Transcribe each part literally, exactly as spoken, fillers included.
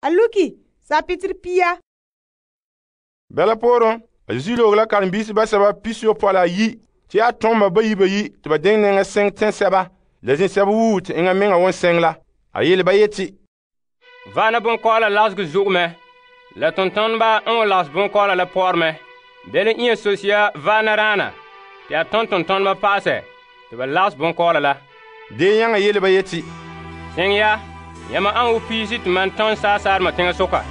a luki sapitiri pia. Bɛla pooren, a Zesu loge la karen-biisi basɛba pisiyopɔe ayi te a tom ba bayi bayi te ba diŋe nɛŋa seŋ tɛnsɛba la zĩnsɛba wuo te enŋa meŋa won seŋ la. A yele ba yeti, Vaana bonkɔɔla lagegɔ zo'e mɛ, la tontoneba n wan lagese bonkɔɔla la pɔɔre mɛ. Bele n yɛ sosia vaana raana te a tom tontoneba pa'asɛ te ba lagese bonkɔɔla la. Dee yaŋa yele ba yeti, Seŋ ya, yamam an wo piisi te man tom saasaarema teŋasoka.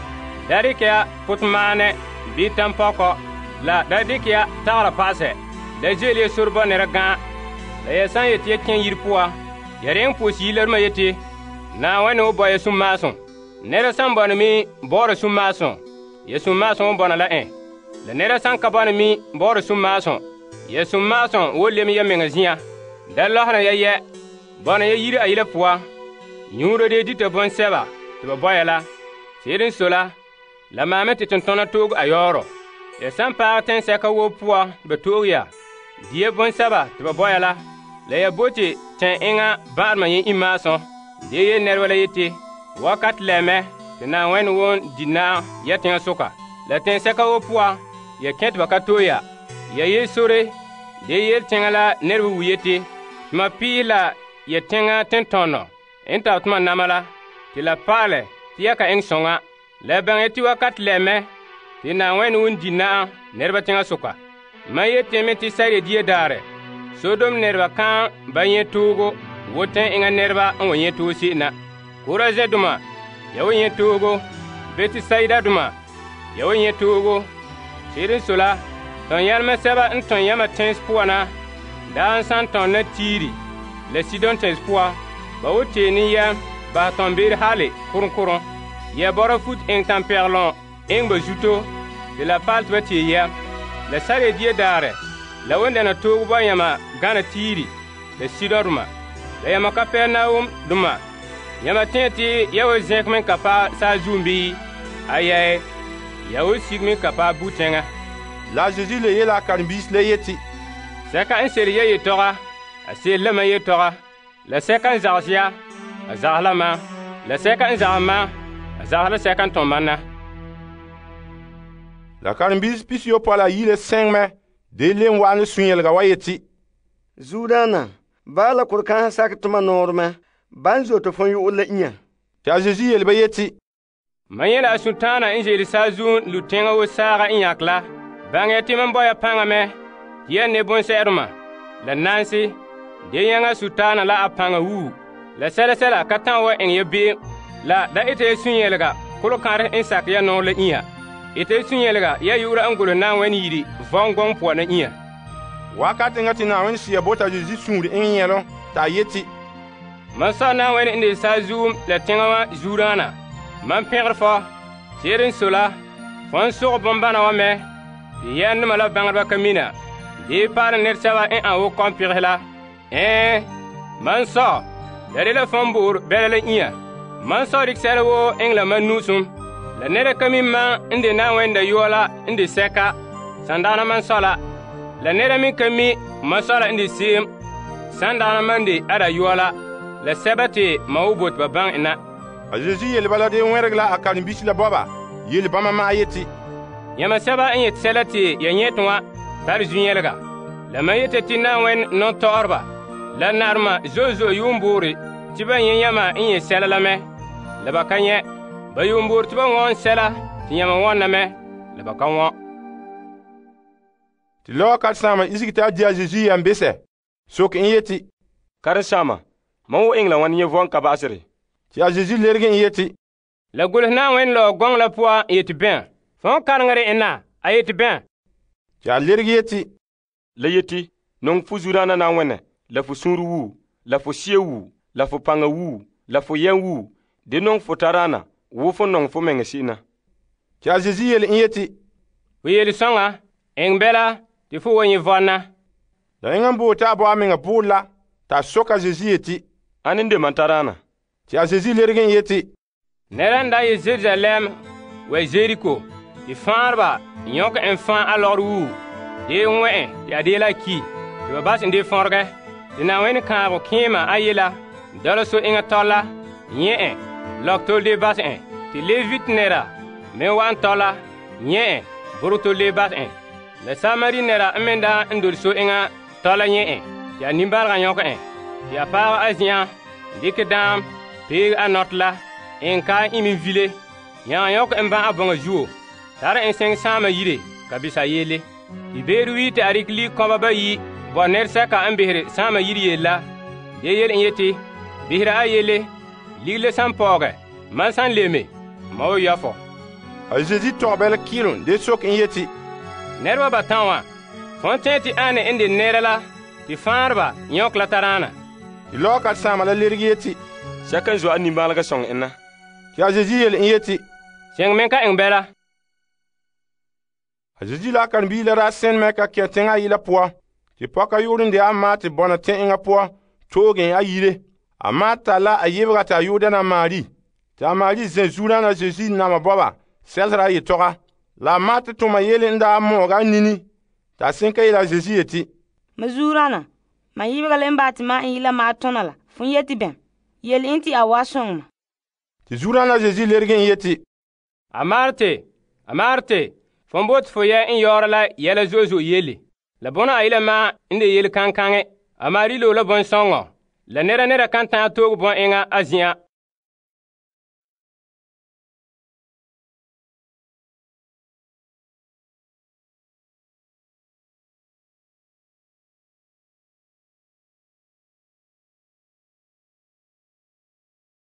Da dikɛ ya potomaanɛ bii tampɔkɔ, la da dikɛ ya tagara pa'asɛ. Da ze'ele ya sore bɔ nɛra gã'a. La ya san yeti ya kẽ yire poan, ya reŋe pos yilarema yeti, Naawuni wo bɔ ya sunmaasum. Nɛra san bɔna mi bɔ'ɔra sunmaasum, ya sunmaasum wo bɔna la en. La nɛra san ka bɔna mi bɔ'ɔra sunmaasum, ya sunmaasum wo lem ya meŋa zia. Da lɔsera ya yɛ, bɔna ya yire ayila poan, nyuura de dita bɔnsɛba te ba bɔ ya la. Se'ere n sɔe la, la maame te tontona tooge a yɔɔrɔ. Ya san paɛ tɛnsɛka woo poan te ba tooge ya, dia bɔnsɛba te ba bɔ ya la, la ya bote tɛn enŋa ba'arema yẽ imaasum. De yele nɛreba la yeti, wakat lɛmɛ te Naawuni won di naam ya teŋasoka. La tɛnsɛka woo poan, ya kẽ te ba ka to'e ya. Ya yele sore, de yele teŋa la nɛreba wu yeti, tuma piihe la ya teŋa tentɔnɔ n tare toma nama la, te la pa'alɛ te ya ka eŋɛ soŋa. La baŋɛ yeti wakat lɛmɛ te Naawuni won di naam nɛreba teŋasoka. Mam yeti me te sare dia daarɛ, Sodom nɛreba kan ba nyɛ toogo wo tɛn enŋa nɛreba n wa nyɛ toogo se'em na. Korazɛndoma, ya wa nyɛ toogo. Betisaidadoma, ya wa nyɛ toogo. Se'ere n sɔe la, tɔn-yɛlema sɛba n tɔn yãma tɛnse poan na daa n san tɔn na Tiiri la Sidon tɛnse poan, ba wo tee ne yɛm bahɛ tɔn-beere hale korom-korom. Ya bɔra fut eŋɛ tampɛgelom eŋɛ ba zuto te la paale te ba tee yɛm. La sare dia daarɛ, la wan dɛna toogo ba yãma gana Tiiri la Sidondoma. La yãma Kapernaum-doma, yãma tẽ te ya wa zẽk me ka paɛ saazuum bii? Ayɛɛ, ya wa sig me ka paɛ bu-tɛŋa. La a Zesu le yele a karen-biisi la yeti, Sɛka n sere ya yetɔga, a sere la mam yetɔga. La sɛka n zages ya, a zages la mam. La sɛka n zages mam, a zages la sɛka n tɔm mam na. La karen-biisi pisiyopɔe ayi le sɛŋ mɛ de le n wa'an ne sun-yelega wa yeti, Zuodaana, baa la korekansa sakɛ toma nɔɔrɛ mɛ. Ban zote fon yo'o la inya. Te a Zesu yele ba yeti, Man yela a sultaana n ze'ele saazuun lu teŋa wo saaga n yãk la. Baŋɛ ya te mam bɔ ya paŋa mɛ, tɩ ya ne bõn-sɛ'ɛdema, la nanse, de yãŋa sultaana la a paŋa wuu. La sɛla sɛla ka ta'an wa eŋɛ ya be'em. La da ita ya sun-yelega kolokãrɛ n sakɛ ya nɔɔ la inya. Ita ya sun-yelega ya yu'ura n golehɛ Naawuni yire vɔn gɔŋɔ poan na inya. Wakat eŋa te Naawuni Sea bota Zesu suŋeri eŋɛ yɛlom t'a yeti, Man sɔ Naawuni n de saazuum la teŋa wa zuuraana. Man pẽgr fɔ, se'ere n sɔe la, fo n sogɛ bombana wa mɛ, tɩ yɛndema la bãngdba ka mina, dee paara nɛresɛba n an wo kɔmpegehe la. Ɛɛ, man sɔ, la de la fõn boor bɛla la inya. Man sɔ dɩk sɛla woo eŋɛ la man nu'usum. La nɛra ka mi man n de Naawuni Dayɔa la n de sɛka, sandaana man sɔ la. La nɛra mi ka mi man sɔ la n de se'em, sandaana man de a Dayɔa la. La sɛba te ma wo bote ba baŋ na. A Zesu yele bala de wẽreg la a karen-biisi la bɔba, yele bãmba maa yeti, Yãma sɛba n yet sɛla te ya yẽt wã tare zu-yɛlega. La mam yete tɩ Naawuni nɔn-tɔgɔreba la narema zo'e zo'e yuumboore tɩ ba yẽ yãma n yẽ sɛla la mɛ, la ba ka yẽ. Ba yuumboore tɩ ba wõn sɛla tɩ yãma wõnna mɛ, la ba ka wõ. Tɩ lɔɔ karen-saamba isigi t'a di a Zesu yam besɛ, sok n yeti, Karen-saamba, mam wo eŋɛ la wãn yẽ vɔn ka ba'asere? Tɩ a Zesu lerge n yeti, La golehɛ Naawuni la gɔŋ la poan n yeti bẽ? Fõn kareŋere n na, a yeti bẽ? Tɩ a lerge yeti, La yeti, nong fo zudaana Naawuni, la fo sũur wuu, la fo sie wuu, la fo paŋa wuu, la fo yɛm wuu, de nong fo taraana wo fo nong fo meŋa se'em na. Tɩ a Zesu yele n yeti, Fo yel sõŋa, eŋ bɛla tɩ fo wa yẽ vɔnna. La yẽŋa n boore t'a bɔ a meŋa poore la, t'a sok a Zesu yeti, Ãn n de mam taraana? Tɩ a Zesu lerge n yeti, Nɛra n da yɩ Jerusalɛm wa Zeriko, tɩ fãareba yõk n fãa a lɔgr wuu, dee wẽ e tɩ a dee la ki, tɩ ba bas n dee fõrgɛ. Tɩ Naawuni kãabg kẽema a yela, dɔla so eŋa tɔla, yẽ e, lɔg tol dee bas e, te Levit nɛra me wa'an tɔla nyɛ' en borɛ to le bas en. La Samari nɛra n me daa n dole so enŋa tɔla nyɛ' en te a nimbalega nyɔkɛ en, te a paagɛ a zen'an dikɛ daam peege a nɔtɛ la en ka imi vile, nyaŋɛ nyɔkɛ en ban' a bɔŋa zuo, tare en seŋɛ saama yire ka bisa yele. Te beere wii te a rikɛ ligikɔba bayi' bo nɛresɛka n behere saama yire yele la, de yele en yeti, behera a yele, ligile san pɔɔgɛ, mam san leme, ma wa yɔfɔ. A Zeezi tɔgɛ bɛla kɩɩlom de sok en yeti, Nɛreba batan wa, fon tɛɛ te ane n de nɛra la te faanreba nyɔkɛ la taraana. Te lɔɔkaresaama la lerege yeti, sɛka n zo a nimbalega sõŋ en na. Te a Zeezi yele en yeti, Seŋ me ka eŋɛ bɛla. A Zeezi la a karen-bii la daa sẽn mɛ ka kẽ teŋa ayi la poan. Te pɔka yu'urɛ n de a Maate bɔna tɛn'ɛŋa poan tooge en a yire. A Maate tare la a yebega te a yu'urɛ dɛna Mari. Te a Mari zẽ zuodaana Zeezi nama bɔba sɛlsera a yetɔga. La a Maate toma yele n daa mɔɔga a nini. Te a sẽn ka yele a Zeezi yeti, Ma zuurana, ma yibega le n baa te ma n yi la ma tona la, fon yeti bɛm? Yele en te a wa sõŋ ma. Te zuodaana Zeezi lerege en yeti, A Marte, a Marte, fon bote fo yɛ n yɔɔra la yɛla zo'e zo'e yele. La bona a yela ma n de yele kaŋkaŋɛ. A Mari lo la bɔnsɔŋɔ. La nɛra nɛra kan ta'an tooge bɔn eŋa a zen'an.